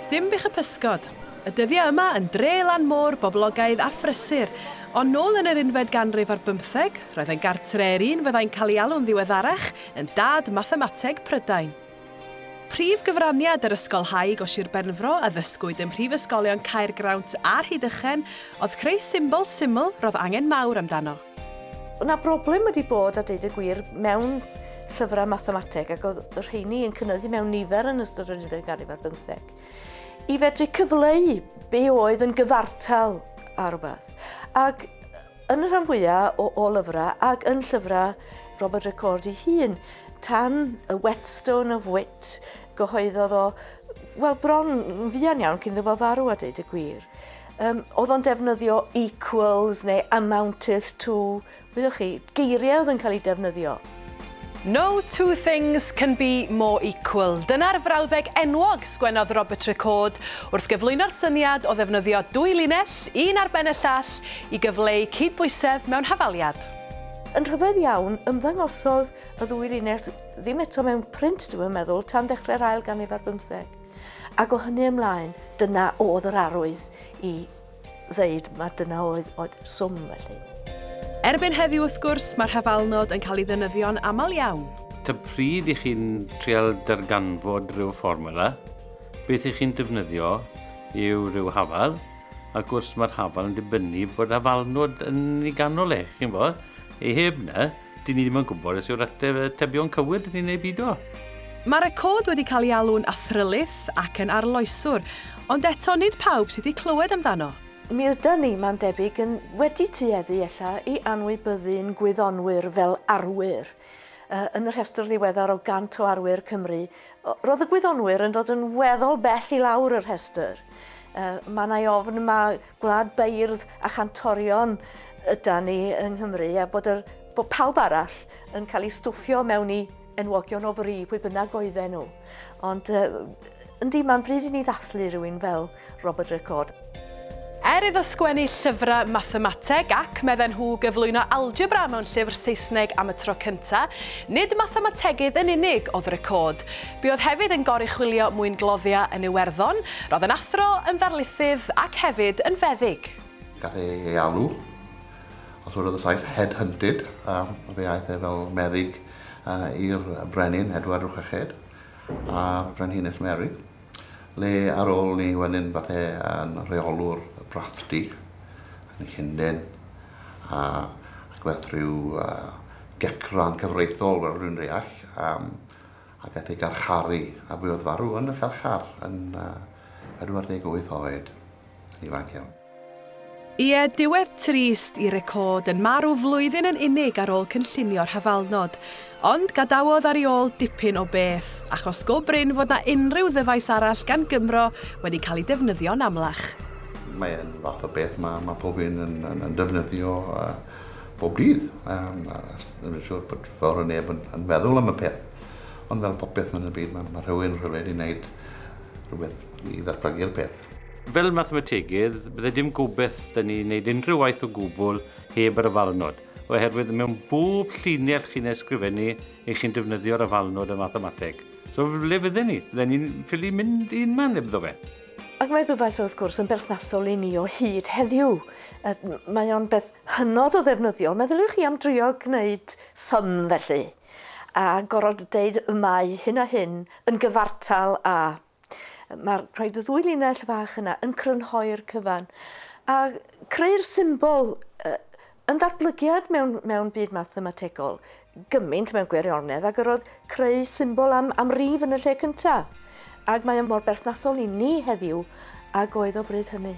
Dinbych y Pysgod. Y dyddiau yma yn dre lan môr boblogaidd a phrysur, ond nôl yn yr unfed ganrif ar bymtheg, roedd yn gartre i'r un fyddai'n cael ei alw'n ddiweddarach yn dad mathemateg Prydain. Prif gyfraniad yr ysgolhaig o Sir Benfro a ddysgwyd ym mhrifysgolion Caergrawnt a Rhydychen oedd creu symbol syml roedd angen mawr amdano. Yna broblem wedi bod, a deud y gwir, mewn llyfrau mathemateg, ac oedd y rheini yn cynyddu mewn nifer yn ystod yr unfed ganrif ar bymtheg, i fedru cyfleu be oedd yn gyfartal ar rhywbeth. Ac yn y rhan fwyaf o lyfrau, ac yn llyfrau Robert Recorde ei hun, tan y Whetstone of Wit, gyhoeddodd o, wel, bron yn fuan iawn cyn iddo fo farw, a deud y gwir. Oedd o'n defnyddio equals neu amounteth to, wyddoch chi, geiriau oedd yn cael eu defnyddio. "No two things can be more equal." Dyna'r frawddeg enwog sgwennodd Robert Recorde wrth gyflwyno'r syniad o ddefnyddio dwy linell, un ar ben y llall, i gyfleu cydbwysedd mewn hafaliad. Yn rhyfedd iawn, ymddangosodd y ddwy linell ddim eto mewn print, dwi'n meddwl, tan dechrau'r ail ganrif ar bymtheg. Ac o hynny ymlaen, dyna oedd yr arwydd i ddeud mae dyna oedd swm felly. Erbyn heddiw, wrth gwrs, mae'r hafalnod yn cael ei ddefnyddio'n aml iawn. Ta pryd i chi'n trial darganfod rhyw fformula, beth i chi'n defnyddio yw rhyw hafal, ac wrth mae'r hafal yn dibynnu bod hafalnod yn ei ganol e, chi'n bod? Ei heb na, dyn ni ddim yn gwybod os yw'r atebion cywir dyn ni'n ei bido. Mae'r Recorde wedi cael ei alw'n athrylith ac yn arloeswr, ond eto nid pawb sydd wedi clywed amdano. Mi ydan ni, mae'n debyg, yn wedi tueddu ella i anwybyddu'n gwyddonwyr fel arwyr. Yn y rhestr ddiweddar o 100 o arwyr Cymru, roedd y gwyddonwyr yn dod yn weddol bell i lawr y rhestr. Mae yna ofn mae gwlad beirdd a chantorion ydan ni yng Nghymru a bod pawb arall yn cael ei stwffio mewn i enwogion o fri, pwy bynnag oedden nhw. Ond yndi, mae'n bryd i ni ddathlu rhywun fel Robert Recorde. Er iddo sgwennu llyfrau mathemateg ac, medden nhw, gyflwyno algebra mewn llyfr Saesneg am y tro cyntaf, nid mathemategydd yn unig oedd Recorde. Buodd hefyd yn goruchwylio mwyngloddiau yn Iwerddon, roedd yn athro, yn ddarlithydd ac hefyd yn feddyg. Gath ei alw, os oedd y Sais, head-hunted, fe aeth e fel meddyg i'r brenin Edward y Chweched a'r Frenhines Mary. Le ar ôl ni wedyn fath e yn rheolwr brathdy yn Llundain ac fath rhyw gecran cyfreithiol fel rhywun reall a gath ei garcharu a buodd farw yn y carchar yn 48 oed, yn ifanc iawn. Ie, diwedd trist i Recorde yn marw flwyddyn yn unig ar ôl cynllunio'r hafalnod. Ond gadawodd ar ei ôl dipyn o beth, achos go brin fod na unrhyw ddyfais arall gan Gymro wedi cael ei defnyddio'n amlach. Mae'n fath o beth mae pob un yn defnyddio bob dydd. Ddim yn siŵr bod fawr o neb yn meddwl am y peth. Ond fel popeth yn y byd, mae rhywun rhywle wedi wneud rhywbeth i ddatblygu'r peth. Fel mathemategydd, bydde dim gobeith dyn ni wneud unrhyw waith o gwbl heb yr hafalnod, oherwydd mewn bob llinell chi'n ysgrifennu, eich chi'n defnyddio'r hafalnod y mathemateg. So le fydden ni? Fydden ni'n ffili mynd un man hebddo fe. Ac mae ddyfais wrth gwrs yn berthnasol i ni o hyd heddiw. Mae o'n beth hynod o ddefnyddiol. Meddyliwch chi am drio gwneud sum felly, a gorfod deud y mae hyn a hyn yn gyfartal a. Mae'r rhaid y ddwy linell fach yna yn crynhoi'r cyfan. A creu'r symbol yn ddatblygiad mewn byd mathemategol gymaint mewn gwirionedd ac yr oedd creu symbol am rif yn y lle cyntaf. Ac mae o mor berthnasol i ni heddiw ag oedd o bryd hynny.